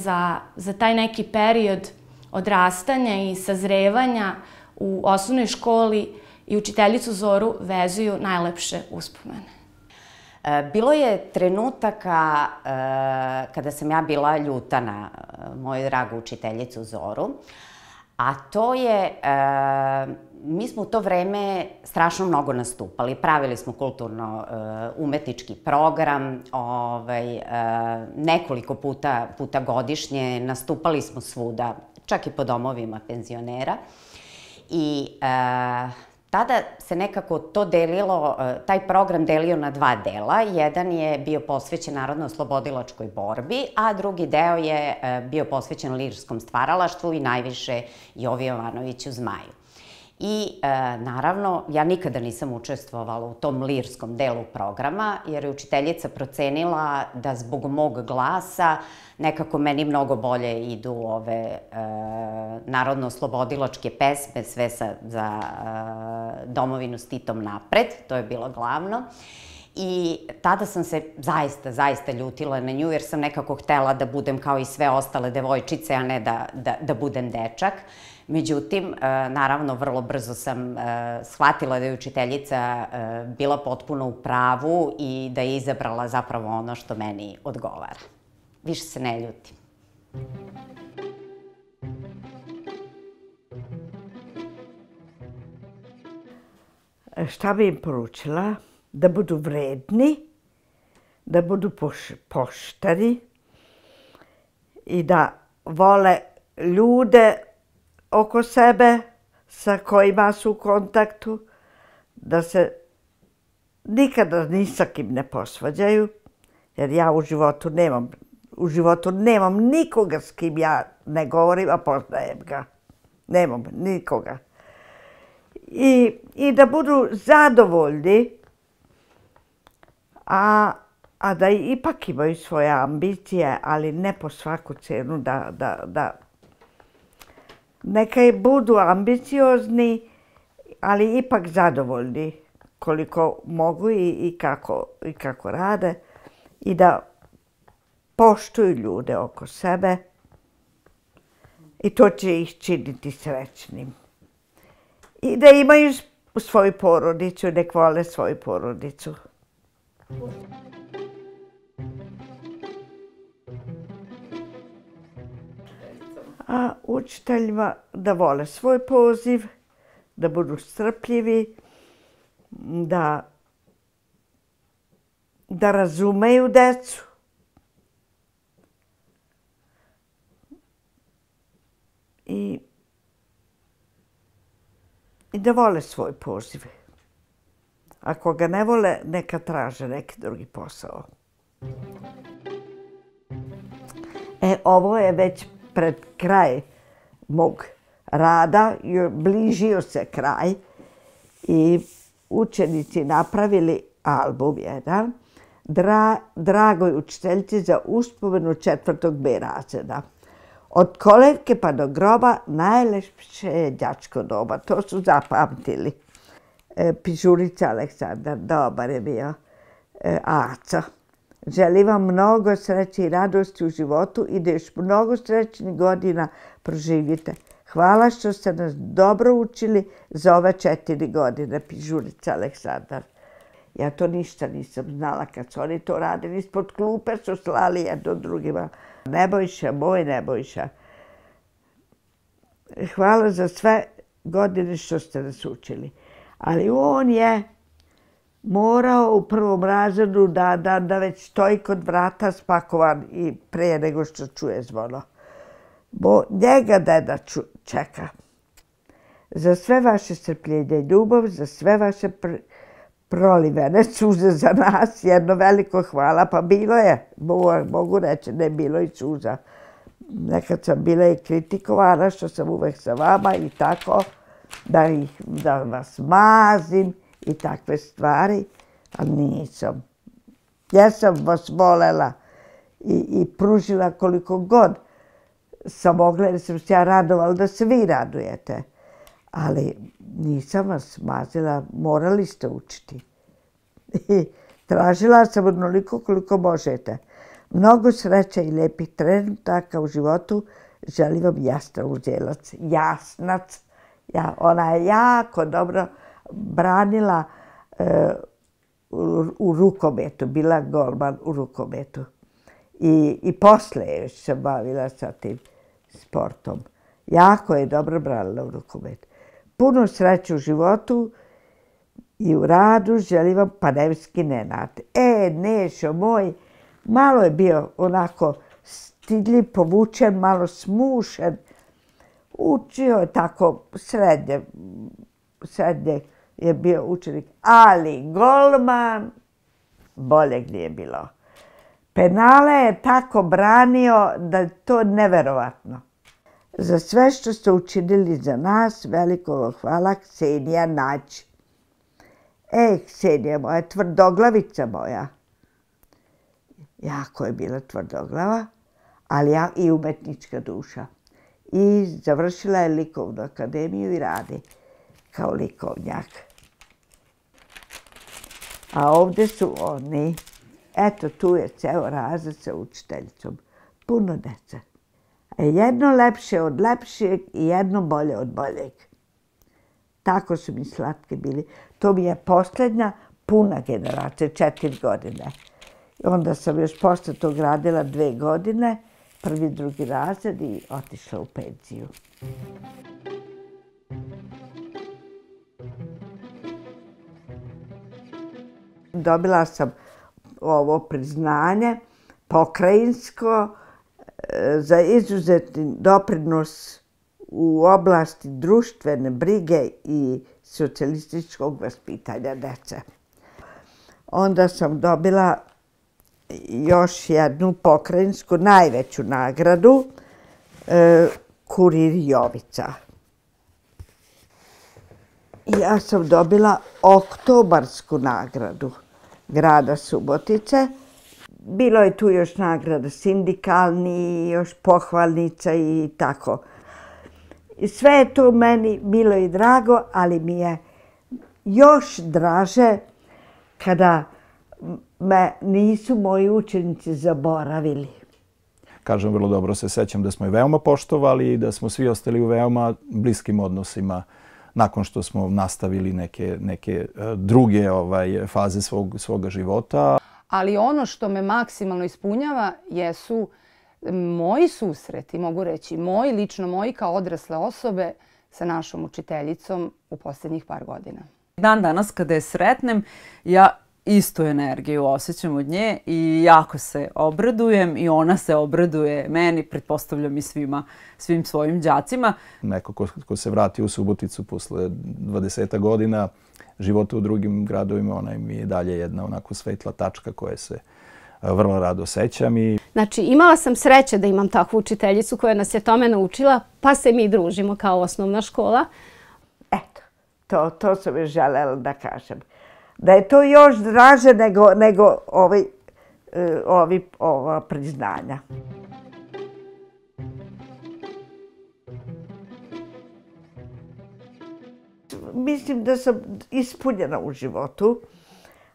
za taj neki period odrastanja i sazrevanja u osnovnoj školi i učiteljicu Zoru vezuju najlepše uspomene. Bilo je trenutaka kada sam ja bila ljuta na moju dragu učiteljicu Zoru, a to je, mi smo u to vreme strašno mnogo nastupali. Pravili smo kulturno-umetnički program, nekoliko puta godišnje, nastupali smo svuda, čak i po domovima penzionera. I tada se nekako to delilo, taj program delio na dva dela. Jedan je bio posvećen narodno-oslobodilačkoj borbi, a drugi deo je bio posvećen lirskom stvaralaštvu i najviše Jovi Jovanoviću Zmaju. I naravno, ja nikada nisam učestvovala u tom lirskom delu programa, jer je učiteljica procenila da zbog mog glasa nekako meni mnogo bolje idu ove narodno-oslobodilačke pesme, sve za domovinu s Titom napred, to je bilo glavno. I tada sam se zaista ljutila na nju, jer sam nekako htela da budem kao i sve ostale devojčice, a ne da budem dečak. Međutim, naravno, vrlo brzo sam shvatila da je učiteljica bila potpuno u pravu i da je izabrala zapravo ono što meni odgovara. Više se ne ljutim. Šta bi im poručila? Da budu vredni, da budu pošteni i da vole ljude oko sebe sa kojima su u kontaktu, da se nikada ni sa kim ne posvađaju, jer ja u životu nemam nikoga s kim ja ne govorim, a poznajem ga. Nemam nikoga. I da budu zadovoljni, a da ipak imaju svoje ambicije, ali ne po svaku cenu, da neka budu ambiciozni, ali ipak zadovoljni koliko mogu i kako rade, i da poštuju ljude oko sebe, i to će ih činiti srećnim. I da imaju svoju porodicu, nek vole svoju porodicu. A učiteljima da vole svoj poziv, da budu strpljivi, da razumeju decu. I da vole svoj poziv. Ako ga ne vole, neka traže neki drugi posao. Ovo je već pred kraj mog rada, bližio se kraj i učenici napravili album jedan Dragoj učiteljici za uspomenu 4. B razreda. Od kolevke pa do groba najlepše je đačko doba. To su zapamtili. Pižurica Aleksandar, dobar je bio. Aco. Želim vam mnogo sreće i radosti u životu i da još mnogo srećnih godina proživite. Hvala što ste nas dobro učili za ove 4 godine, Pižurica Aleksandar. Ja to ništa nisam znala kad su oni to radili. Ispod klupe su slali jedno drugima. Nebojša, moj Nebojša. Hvala za sve godine što ste nas učili. Ali on je morao u prvom razredu da već stoji kod vrata spakovan i prije nego što čuje zvono. Bo njega deda čeka. Za sve vaše strpljenje i ljubav, za sve vaše prolivene suze za nas, jedno veliko hvala, pa bilo je, mogu reći, ne bilo i suza. Nekad sam bila i kritikovana što sam uvek sa vama i tako, da vas mazim i takve stvari, ali nisam. Ja sam vas volela i pružila koliko god sam mogla, jer sam se ja radovala da se vi radujete. Ali nisam vas mazila, morali ste učiti. I tražila sam onoliko koliko možete. Mnogo sreće i lijepih trenutaka u životu. Želim vam Jasna Uzelac. Jasnac. Ona je jako dobro branila u rukometu. Bila golman u rukometu. I posle još se bavila sa tim sportom. Jako je dobro branila u rukometu. Puno sreće u životu i u radu. Želim vam Panevski Nenad. Nešo moj, malo je bio onako stidljiv, povučen, malo smušen. Učio je tako srednje je bio učenik, ali golman boljeg nije bilo. Penale je tako branio da je to neverovatno. Za sve što ste učinili za nas, veliko vam hvala, Ksenija Nađ. Ksenija moja, tvrdoglavica moja. Jako je bila tvrdoglava, ali i umetnička duša. I završila je likovnu akademiju i radi kao likovnjak. A ovdje su oni. Eto, tu je ceo razred sa učiteljicom. Puno dece. Jedno lepše od lepšeg i jedno bolje od boljeg. Tako su mi slatki bili. To mi je posljednja puna generacija, 4 godine. Onda sam još posle tog radila 2 godine, 1. i 2. razred i otišla u penziju. Dobila sam ovo priznanje pokrajinsko za izuzetni doprinos u oblasti društvene brige i socijalističkog vaspitanja dece. Onda sam dobila još jednu pokrajinsku najveću nagradu, Kurir Jovica. Ja sam dobila oktobarsku nagradu grada Subotice. Bilo je tu još nagrada sindikalni, još pohvalnica i tako. I sve je to meni bilo i drago, ali mi je još draže kada me nisu moji učenici zaboravili. Kažem, vrlo dobro se sećam da smo je veoma poštovali i da smo svi ostali u veoma bliskim odnosima nakon što smo nastavili neke druge faze svoga života. Ali ono što me maksimalno ispunjava jesu moji susreti, mogu reći, lično moji kao odrasle osobe sa našom učiteljicom u posljednjih par godina. Dan danas kada je sretnem, ja istu energiju osjećam od nje i jako se obradujem i ona se obraduje meni, pretpostavljam i svim svojim đacima. Neko ko se vrati u Suboticu posle 20 godina života u drugim gradovima, ona mi je dalje jedna onako svetla tačka koja se vrlo rado sećam. Znači, imala sam sreće da imam takvu učiteljicu koja nas je tome naučila, pa se mi družimo kao osnovna škola. Eto, to sam još želela da kažem. Da je to još draže nego ova priznanja. Mislim da sam ispunjena u životu,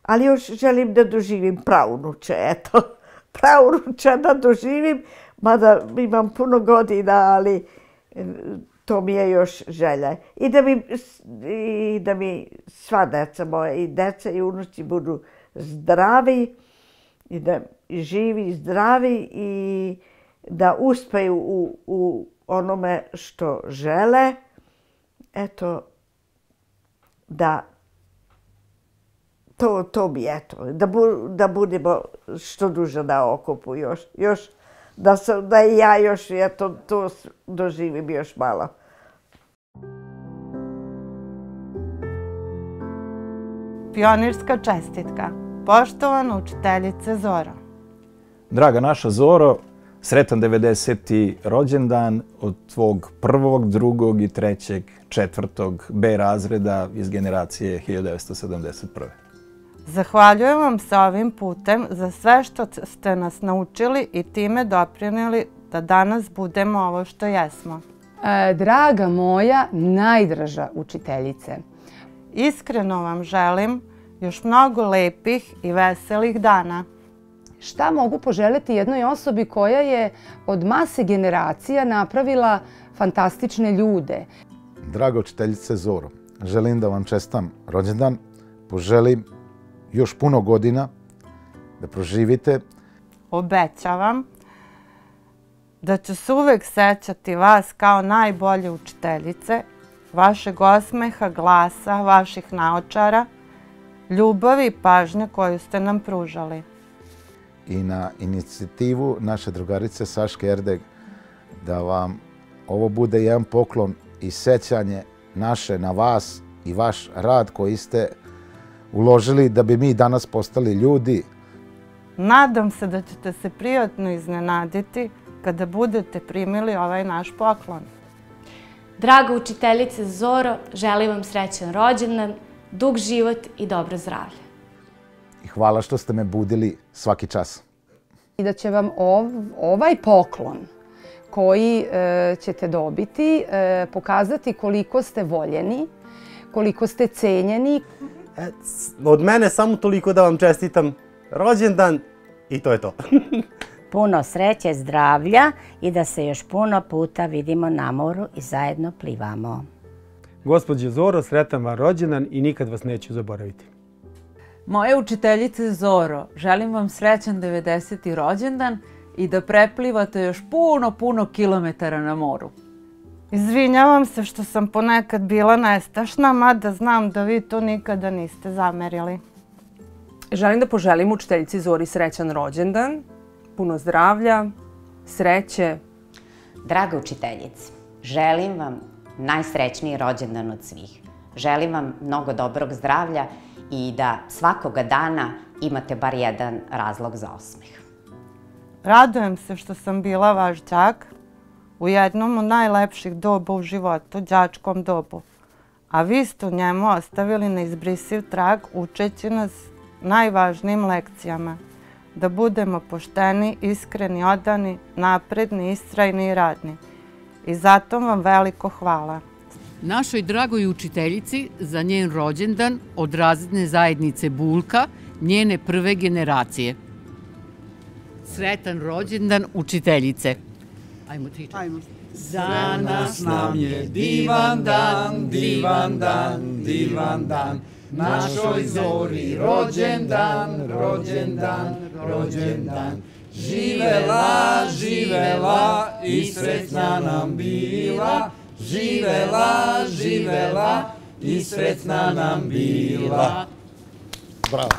ali još želim da doživim praunuče, eto. Praunuče da doživim, mada imam puno godina, ali to mi je još želja. I da mi sva deca moje, i deca i unuci budu zdravi, i da živi i zdravi i da uspeju u onome što žele. Eto, da to bi eto, da budemo što duže na okupu još, da i ja još to doživim još malo. Pionirska čestitka. Poštovana učiteljice Zoro. Draga naša Zoro, sretan 90. rođendan od tvog prvog, drugog i trećeg, četvrtog B razreda iz generacije 1971. Zahvaljujem vam se ovim putem za sve što ste nas naučili i time doprinijeli da danas budemo ovo što jesmo. Draga moja najdraža učiteljice, iskreno vam želim još mnogo lepih i veselih dana. Šta mogu poželjeti jednoj osobi koja je od mase generacija napravila fantastične ljude? Draga učiteljice Zoro, želim da vam čestam rođendan, poželim još puno godina da proživite. Obećavam da ću se uvek sećati vas kao najbolje učiteljice, vašeg osmeha, glasa, vaših naočara, ljubavi i pažnje koju ste nam pružali. I na inicijativu naše drugarice Saške Erdeg da vam ovo bude jedan poklon i sećanje naše na vas i vaš rad koji ste uložili da bi mi danas postali ljudi. Nadam se da ćete se prijatno iznenaditi kada budete primili ovaj naš poklon. Draga učiteljice Zoro, želim vam srećan rođendan, dug život i dobro zdravlje. I hvala što ste me budili svaki čas. I da će vam ovaj poklon koji ćete dobiti pokazati koliko ste voljeni, koliko ste cenjeni. Od mene samo toliko da vam čestitam rođendan i to je to. Puno sreće, zdravlja i da se još puno puta vidimo na moru i zajedno plivamo. Gospođo Zoro, sretan vam rođendan i nikad vas neću zaboraviti. Moje učiteljice Zoro, želim vam srećan 90. rođendan i da preplivate još puno kilometara na moru. Izvinjavam se što sam ponekad bila nestašna, mada znam da vi to nikada niste zamerili. Želim da poželim učiteljici Zori srećan rođendan, puno zdravlja, sreće. Draga učiteljice, želim vam najsrećniji rođendan od svih. Želim vam mnogo dobrog zdravlja i da svakoga dana imate bar jedan razlog za osmeh. Radujem se što sam bila vaš đak u jednom od najlepših doba u životu, đačkom dobu. A vi ste u njemu ostavili neizbrisiv trag učeći nas najvažnijim lekcijama. Da budemo pošteni, iskreni, odani, napredni, istrajni i radni. I zato vam veliko hvala. Našoj dragoj učiteljici za njen rođendan od razredne zajednice Bulka, njene prve generacije. Sretan rođendan učiteljice. Ajmo tričati. Danas nam je divan dan, divan dan, divan dan. Našoj Zori rođendan, rođendan, rođendan. Živela, živela i sretna nam bila. Živela, živela i sretna nam bila. Bravo.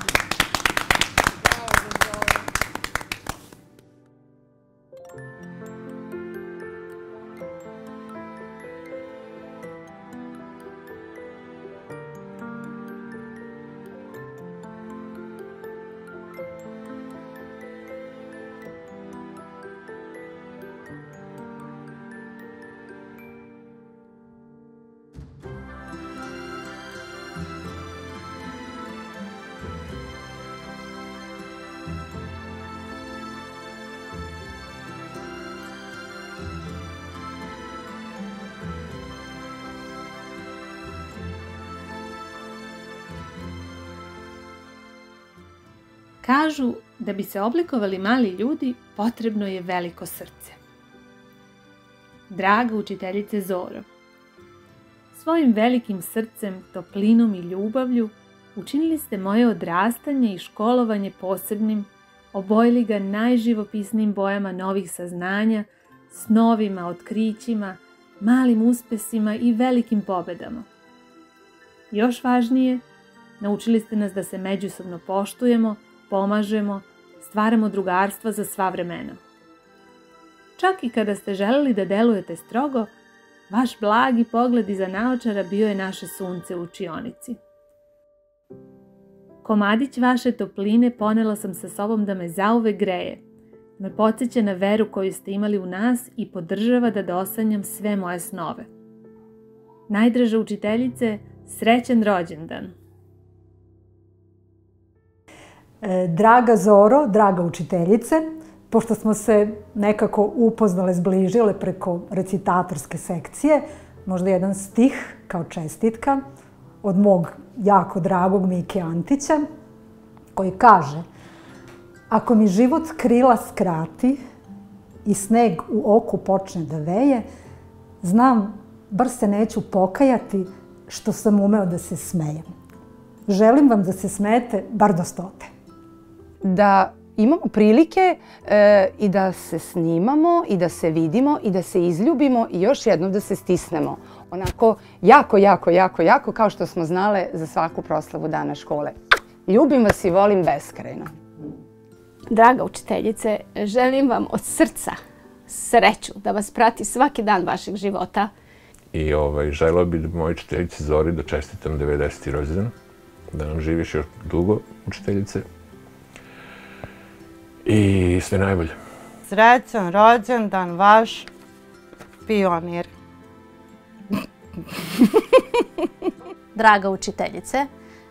Kažu da bi se oblikovali mali ljudi, potrebno je veliko srce. Draga učiteljice Zoro, svojim velikim srcem, toplinom i ljubavlju učinili ste moje odrastanje i školovanje posebnim, obojili ga najživopisnijim bojama novih saznanja, snovima, otkrićima, malim uspesima i velikim pobedama. Još važnije, naučili ste nas da se međusobno poštujemo, pomažemo, stvaramo drugarstva za sva vremena. Čak i kada ste želeli da delujete strogo, vaš blagi pogled iza naočara bio je naše sunce u učionici. Komadić vaše topline ponela sam sa sobom da me zauvek greje, da me podsjeća na veru koju ste imali u nas i podržava da dosanjam sve moje snove. Najdraža učiteljice, srećan rođendan! Draga Zoro, draga učiteljice, pošto smo se nekako upoznale, zbližile preko recitatorske sekcije, možda jedan stih kao čestitka od mog jako dragog Mike Antića, koji kaže: ako mi život krila skrati i sneg u oku počne da veje, znam, bar se neću pokajati što sam umeo da se smejem. Želim vam da se smejete bar do 100. Da imamo prilike i da se snimamo i da se vidimo i da se izljubimo i još jednom da se stisnemo. Onako jako, kao što smo znale za svaku proslavu dana škole. Ljubim vas i volim beskrajno. Draga učiteljice, želim vam od srca sreću da vas prati svaki dan vašeg života. I želeo bih da mojoj učiteljici Zori da čestitam 90. rođendan, da nam živiš još dugo, učiteljice. I sve najbolje. Srećan rođendan vaš pionir. Draga učiteljice,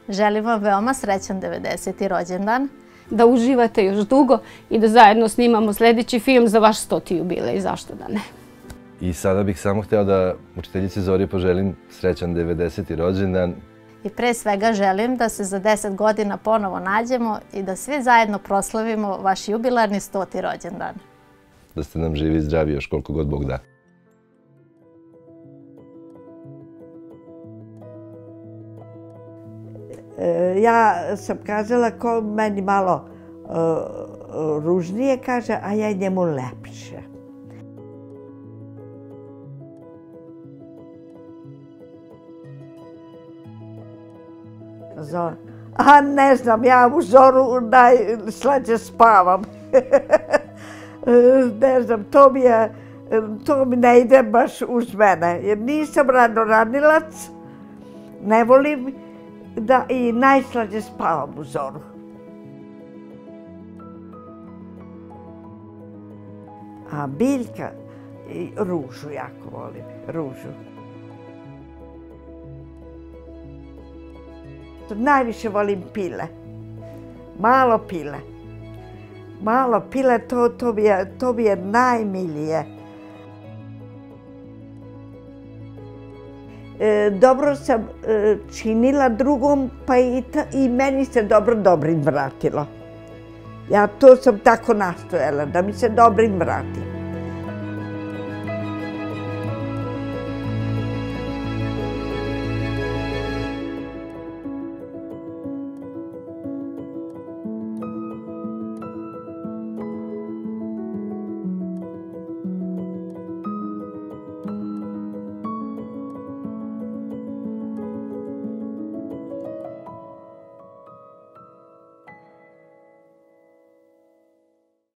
želim vam veoma srećan 90. rođendan. Da uživate još dugo i da zajedno snimamo sljedeći film za vaš 100. jubilej, zašto da ne. I sada bih samo hteo da učiteljici Zori poželim srećan 90. rođendan. I pre svega želim da se za 10 godina ponovo nađemo i da svi zajedno proslavimo vaš jubilarni 100. rođendan. Da ste nam živi i zdravi još koliko god Bog da. Ja sam kazala ko meni malo ružnije kaže, a ja njemu lepše. Zor. A ne znam, ja u zoru najslađe spavam. Ne znam, to mi ne ide baš uz mene. Jer nisam ranoranilac, ne volim da i najslađe spavam u zoru. A biljka, ružu jako volim, ružu. Najviše volim pile. Malo pile. Malo pile, to mi je najmilije. Dobro sam činila drugom, pa i meni se dobrim vratilo. Ja to sam tako nastojala, da mi se dobrim vrati.